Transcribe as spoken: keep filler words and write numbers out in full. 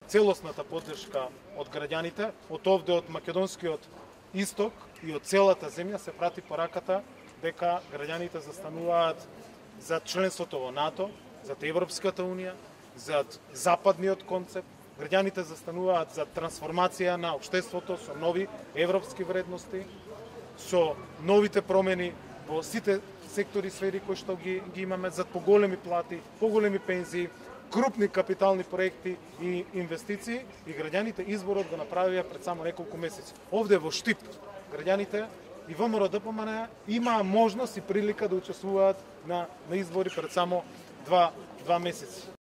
целосната поддршка од граѓаните, од овде од македонскиот исток и од целата земја се прати пораката дека граѓаните застануваат за членството во НАТО, за Европската унија, за западниот концепт. Граѓаните застануваат за трансформација на општеството со нови европски вредности, со новите промени во сите сектори и сфери кои што ги, ги имаме, за поголеми плати, поголеми пензии, крупни капитални проекти и инвестиции, и граѓаните изборот го направија пред само неколку месеци. Овде во Штип граѓаните и ВМРО-ДПМН имаа можност и прилика да учествуваат на, на избори пред само два, два месеци.